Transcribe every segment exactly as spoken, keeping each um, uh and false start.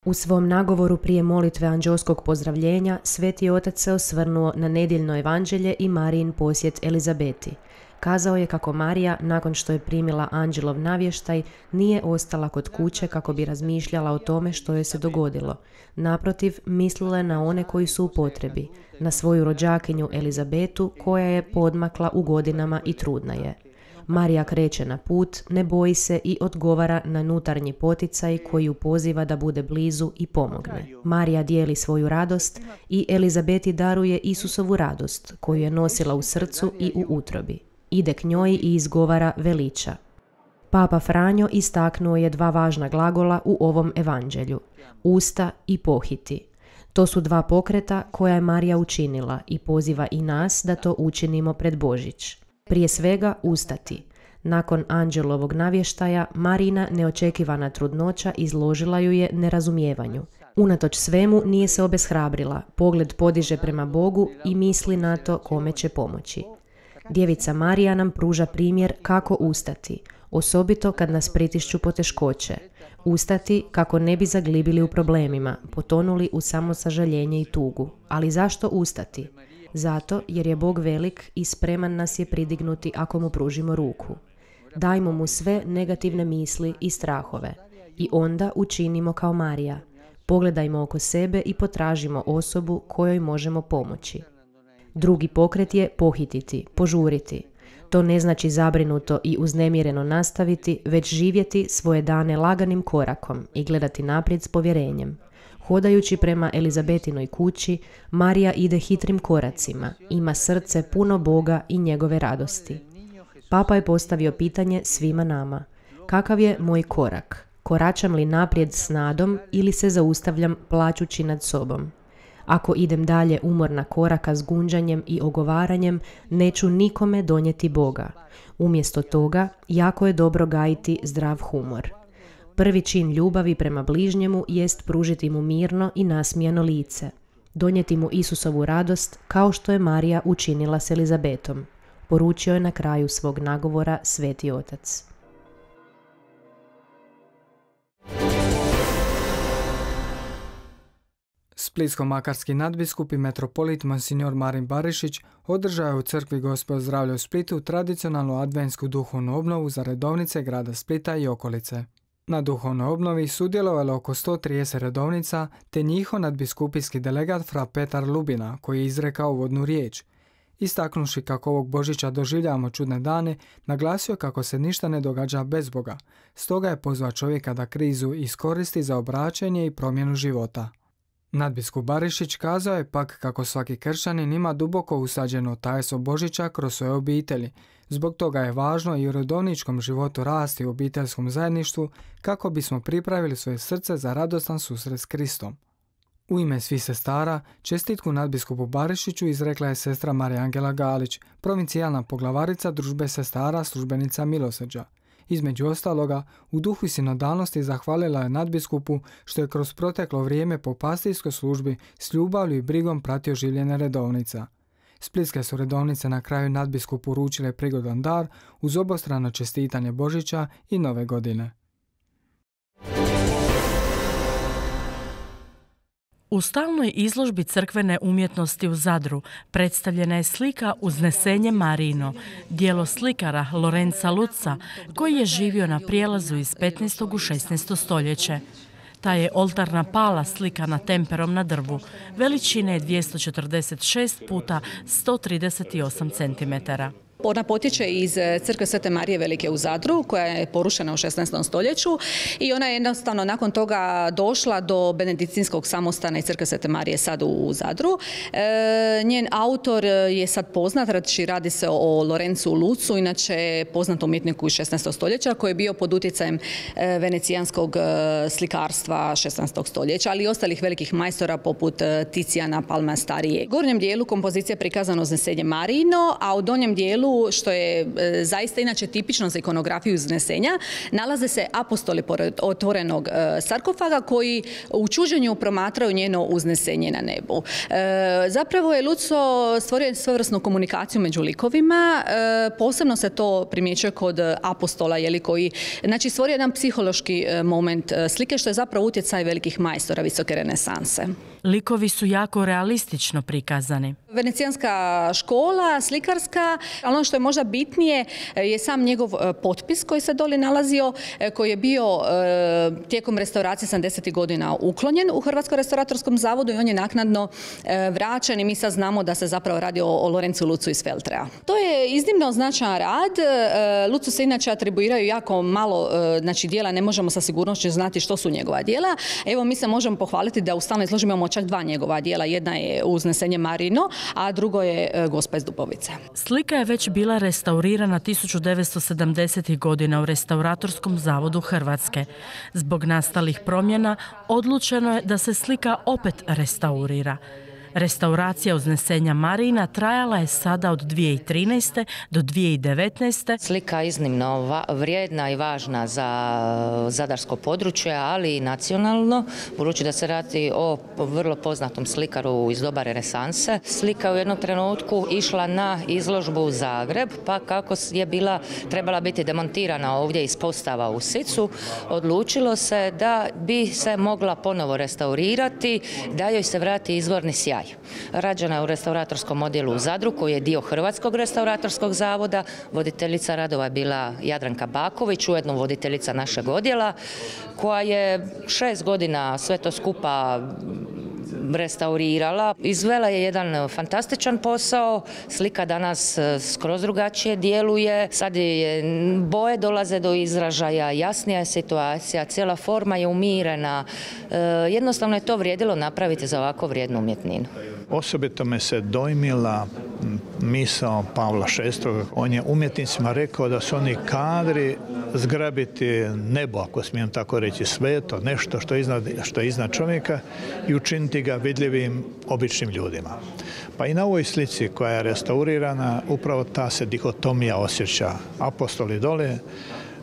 U svom nagovoru prije molitve anđelskog pozdravljenja, Sveti Otac se osvrnuo na nedjeljno evanđelje i Marijin posjet Elizabeti. Kazao je kako Marija, nakon što je primila anđelov navještaj, nije ostala kod kuće kako bi razmišljala o tome što joj se dogodilo. Naprotiv, mislila je na one koji su u potrebi, na svoju rođakinju Elizabetu koja je poodmakla u godinama i trudna je. Marija kreće na put, ne boji se i odgovara na unutarnji poticaj koji ju poziva da bude blizu i pomogne. Marija dijeli svoju radost i Elizabeti daruje Isusovu radost koju je nosila u srcu i u utrobi. Ide k njoj i izgovara veliča. Papa Franjo istaknuo je dva važna glagola u ovom evanđelju, usta i pohiti. To su dva pokreta koja je Marija učinila i poziva i nas da to učinimo pred Božić. Prije svega ustati. Nakon anđelovog navještaja, Marina neočekivana trudnoća izložila ju je nerazumijevanju. Unatoč svemu nije se obeshrabrila, pogled podiže prema Bogu i misli na to kome će pomoći. Djevica Marija nam pruža primjer kako ustati, osobito kad nas pritišću poteškoće. Ustati kako ne bi zaglibili u problemima, potonuli u samosažaljenje i tugu. Ali zašto ustati? Zato jer je Bog velik i spreman nas je pridignuti ako mu pružimo ruku. Dajmo mu sve negativne misli i strahove i onda učinimo kao Marija. Pogledajmo oko sebe i potražimo osobu kojoj možemo pomoći. Drugi pokret je pohititi, požuriti. To ne znači zabrinuto i uznemireno nastaviti, već živjeti svoje dane laganim korakom i gledati naprijed s povjerenjem. Hodajući prema Elizabetinoj kući, Marija ide hitrim koracima, ima srce puno Boga i njegove radosti. Papa je postavio pitanje svima nama. Kakav je moj korak? Koračam li naprijed s nadom ili se zaustavljam plačući nad sobom? Ako idem dalje umorna koraka s gunđanjem i ogovaranjem, neću nikome donijeti Boga. Umjesto toga, jako je dobro gajiti zdrav humor. Prvi čin ljubavi prema bližnjemu jest pružiti mu mirno i nasmijano lice. Donijeti mu Isusovu radost kao što je Marija učinila s Elizabetom. Poručio je na kraju svog nagovora Sveti Otac. Splitsko-makarski nadbiskup i metropolit Monsignor Marin Barišić održao je u crkvi Gospod zdravlja u Splitu tradicionalnu adventsku duhovnu obnovu za redovnice grada Splita i okolice. Na duhovnoj obnovi sudjelovalo oko sto trideset redovnica te njihov nadbiskupijski delegat fra Petar Lubina koji je izrekao uvodnu riječ. Istaknuši kako ovog Božića doživljavamo čudne dane, naglasio kako se ništa ne događa bez Boga, stoga je pozvao čovjeka da krizu iskoristi za obraćanje i promjenu života. Nadbiskup Barišić kazao je pak kako svaki kršćanin ima duboko usađeno tajstvo Božića kroz svoje obitelji. Zbog toga je važno i u redovničkom životu rasti u obiteljskom zajedništvu kako bismo pripravili svoje srce za radostan susret s Kristom. U ime svih sestara, čestitku nadbiskupu Barišiću izrekla je sestra Marija Angela Galić, provincijalna poglavarica Družbe sestara službenica milosrđa. Između ostaloga, u duhu i sinodalnosti zahvalila je nadbiskupu što je kroz proteklo vrijeme po pastirskoj službi s ljubavlju i brigom pratio življenje redovnica. Splitske su redovnice na kraju nadbiskupu uručile prigodan dar uz obostrano čestitanje Božića i Nove godine. U stalnoj izložbi crkvene umjetnosti u Zadru predstavljena je slika Uznesenje Marijino, djelo slikara Lorenza Luzza, koji je živio na prijelazu iz petnaestog u šesnaesto stoljeće. Ta je oltarna pala slikana temperom na drvu, veličine dvjesto četrdeset šest puta sto trideset osam centimetara. Ona potječe iz crkve Svete Marije Velike u Zadru, koja je porušena u šesnaestom stoljeću i ona je jednostavno nakon toga došla do benediktinskog samostana i crkve Svete Marije sad u Zadru. E, njen autor je sad poznat, radi se o Lorenzu Luzzu, inače poznat umjetniku iz šesnaestog stoljeća koji je bio pod utjecajem venecijanskog slikarstva šesnaestog stoljeća, ali i ostalih velikih majstora poput Ticijana, Palma Starije. U gornjem dijelu kompozicija je prikazano Uznesenje Marijino, a u donjem dijelu dijelu, što je e, zaista inače tipično za ikonografiju uznesenja, nalaze se apostoli pored otvorenog e, sarkofaga koji u čuđenju promatraju njeno uznesenje na nebu. E, zapravo je Luco stvorio svojevrsnu komunikaciju među likovima, e, posebno se to primjećuje kod apostola, jeli, koji, znači, stvorio jedan psihološki moment slike, što je zapravo utjecaj velikih majstora visoke renesanse. Likovi su jako realistično prikazani. Venecijanska škola, slikarska, ali ono što je možda bitnije je sam njegov potpis koji se doli nalazio, koji je bio tijekom restauracije sedamdesetih godina uklonjen u Hrvatskom restauratorskom zavodu i on je naknadno vraćen i mi sad znamo da se zapravo radi o Lorencu Lucu iz Feltrea. To je iznimno značajan rad. Lucu se inače atribuiraju jako malo, znači dijela, ne možemo sa sigurnošću znati što su njegova dijela. Evo, mi se možemo pohvaliti da u stalnoj izložbi imamo čak dva njegova dijela. Jedna je Uznesenje Marino, a drugo je Gospa iz Dubovice. Slika je već bila restaurirana tisuću devetsto sedamdesetih godina u Restauratorskom zavodu Hrvatske. Zbog nastalih promjena odlučeno je da se slika opet restaurira. Restauracija Uznesenja Marina trajala je sada od dvije tisuće trinaeste. do dvije tisuće devetnaeste. Slika je iznimno vrijedna i važna za zadarsko područje, ali i nacionalno, budući da se radi o vrlo poznatom slikaru iz doba renesanse. Slika je u jednom trenutku išla na izložbu u Zagreb, pa kako je bila, trebala biti demontirana ovdje iz postava u Sicu, odlučilo se da bi se mogla ponovo restaurirati, da joj se vrati izvorni sjaj. Rađena je u restauratorskom odjelu u Zadru, koji je dio Hrvatskog restauratorskog zavoda. Voditeljica radova je bila Jadranka Baković, ujedno voditeljica našeg odjela, koja je šest godina sve to skupa restaurirala. Izvela je jedan fantastičan posao, slika danas skroz drugačije djeluje, sad je boje dolaze do izražaja, jasnija je situacija, cijela forma je umirena. Jednostavno je to vrijedilo napraviti za ovako vrijednu umjetninu. Osobito me se dojmila misao Pavla šestog. On je umjetnicima rekao da su oni kadri zgrabiti nebo, ako smijem tako reći, sveto, nešto što je iznad, što je iznad čovjeka i učiniti ga vidljivim običnim ljudima. Pa i na ovoj slici koja je restaurirana upravo ta se dihotomija osjeća. Apostoli dole,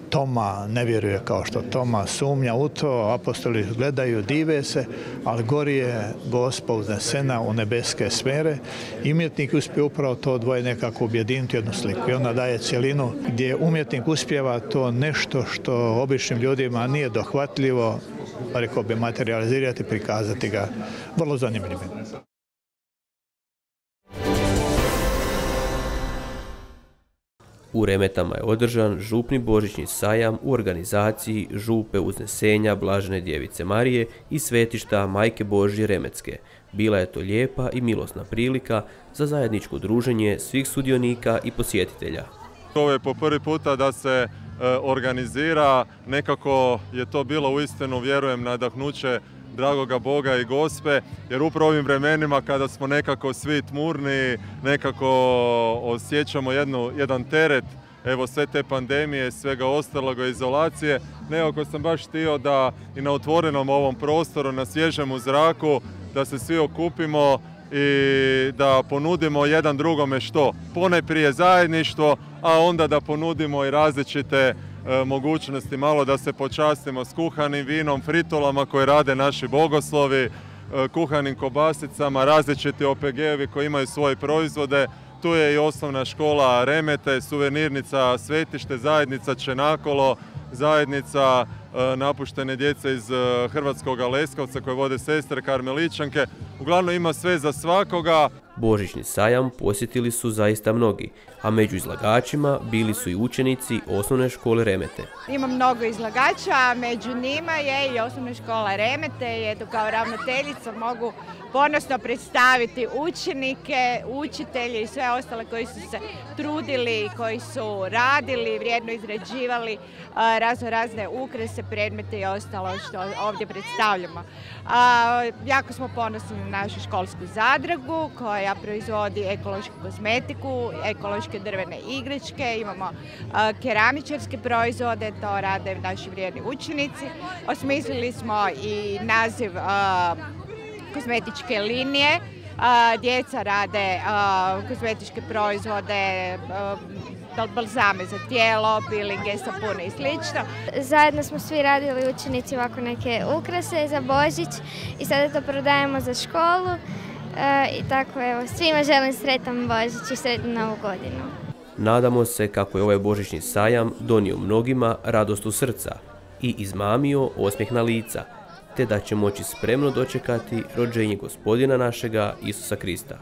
Toma ne vjeruje kao što Toma sumnja u to, apostoli gledaju, dive se, ali gori je Gospa uznesena u nebeske sfere i umjetnik uspije upravo to dvoje nekako objediniti jednu sliku i onda daje cjelinu gdje umjetnik uspijeva to nešto što običnim ljudima nije dohvatljivo, rekao bi materializirati, prikazati ga vrlo zanimljivim. U Remetama je održan župni božićni sajam u organizaciji Župe Uznesenja Blažene djevice Marije i svetišta Majke Božje Remetske. Bila je to lijepa i milosna prilika za zajedničko druženje svih sudionika i posjetitelja. Ovo je po prvi puta da se e, organizira, nekako je to bilo uistinu, vjerujem, nadahnuće dragoga Boga i Gospe, jer upravo ovim vremenima kada smo nekako svi tmurni, nekako osjećamo jednu, jedan teret, evo sve te pandemije, svega ostaloga, izolacije, nekako sam baš htio da i na otvorenom ovom prostoru, na svježem zraku, da se svi okupimo i da ponudimo jedan drugome što? Ponajprije zajedništvo, a onda da ponudimo i različite mogućnosti, malo da se počastimo s kuhanim vinom, fritolama koje rade naši bogoslovi, kuhanim kobasicama, različiti O P G-evi koji imaju svoje proizvode. Tu je i osnovna škola Remete, suvenirnica Svetište, zajednica Čenakolo, zajednica napuštene djece iz Hrvatskog Leskovca koje vode sestre Karmeličanke. Uglavnom ima sve za svakoga. Božićni sajam posjetili su zaista mnogi, a među izlagačima bili su i učenici osnovne škole Remete. Ima mnogo izlagača, a među njima je i osnovna škola Remete i eto kao ravnateljica mogu ponosno predstaviti učenike, učitelje i sve ostale koji su se trudili, koji su radili, vrijedno izrađivali razno razne ukrase, predmete i ostalo što ovdje predstavljamo. A, jako smo ponosni na našu školsku zadrugu koja proizvodi ekološku kozmetiku, ekološke drvene igračke, imamo a, keramičarske proizvode, to rade naši vrijedni učenici. Osmislili smo i naziv a, kozmetičke linije Djeca rade kozmetičke proizvode, balzame za tijelo, peelinge, sapune i slično. Zajedno smo svi radili učenici ovako neke ukrase za Božić i sada to prodajemo za školu. I tako, evo, svima želim sretan Božić i sretnu Novu godinu. Nadamo se kako je ovaj božićni sajam donio mnogima radost u srca i izmamio osmijeh na lica, te da će moći spremno dočekati rođenje Gospodina našega Isusa Krista.